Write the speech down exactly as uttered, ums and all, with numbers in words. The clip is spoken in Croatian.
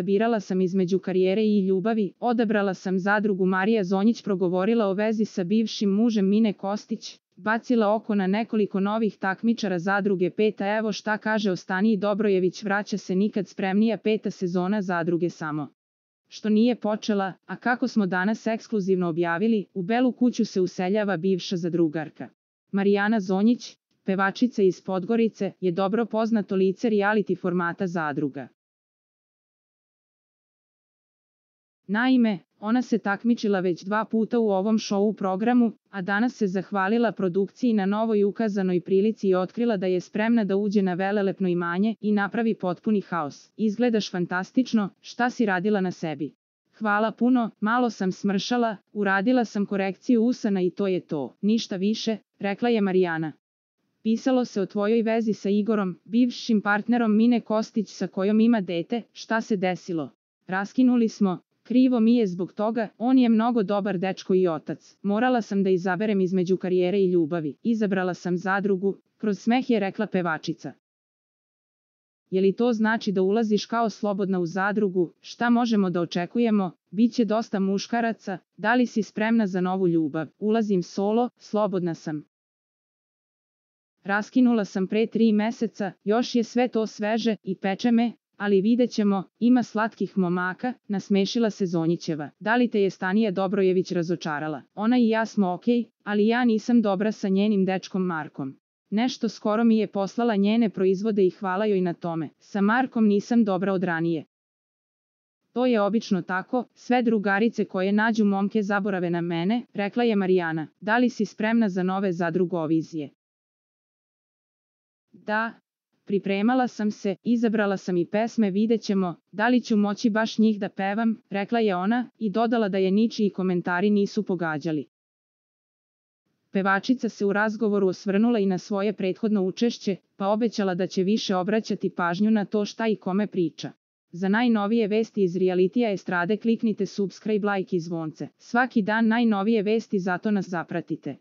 Birala sam između karijere i ljubavi, odabrala sam zadrugu. Marija Zonjić progovorila o vezi sa bivšim mužem Mine Kostić, bacila oko na nekoliko novih takmičara zadruge peta. Evo šta kaže Ostaniji Dobrojević, vraća se nikad spremnija peta sezona zadruge samo što nije počela, a kako smo danas ekskluzivno objavili, u Belu kuću se useljava bivša zadrugarka. Marijana Zonjić, pevačica iz Podgorice, je dobro poznato lice reality formata Zadruga. Naime, ona se takmičila već dva puta u ovom show programu, a danas se zahvalila produkciji na novoj ukazanoj prilici i otkrila da je spremna da uđe na velelepno imanje i napravi potpuni haos. Izgledaš fantastično, šta si radila na sebi? Hvala puno, malo sam smršala, uradila sam korekciju usana i to je to, ništa više, rekla je Marijana. Pisalo se o tvojoj vezi sa Igorom, bivšim partnerom Mine Kostić sa kojom ima dete, šta se desilo? Raskinuli smo. Krivo mi je zbog toga, on je mnogo dobar dečko i otac. Morala sam da izaberem između karijere i ljubavi. Izabrala sam zadrugu, kroz smeh je rekla pevačica. Je li to znači da ulaziš kao slobodna u zadrugu? Šta možemo da očekujemo? Biće dosta muškaraca, da li si spremna za novu ljubav? Ulazim solo, slobodna sam. Raskinula sam pre tri meseca, još je sve to sveže i peče me. Ali vidjet ćemo, ima slatkih momaka, nasmešila se Zonjićeva. Da li te je Stanija Dobrojević razočarala? Ona i ja smo okej, ali ja nisam dobra sa njenim dečkom Markom. Nešto skoro mi je poslala njene proizvode i hvala joj na tome. Sa Markom nisam dobra od ranije. To je obično tako, sve drugarice koje nađu momke zaborave na mene, rekla je Marijana. Da li si spremna za nove zadrugovizije? Da. Pripremala sam se, izabrala sam i pesme, vidjet ćemo, da li ću moći baš njih da pevam, rekla je ona, i dodala da je ničiji komentari nisu pogađali. Pevačica se u razgovoru osvrnula i na svoje prethodno učešće, pa obećala da će više obraćati pažnju na to šta i kome priča. Za najnovije vesti iz realitija estrade kliknite subscribe, like i zvonce. Svaki dan najnovije vesti, zato nas zapratite.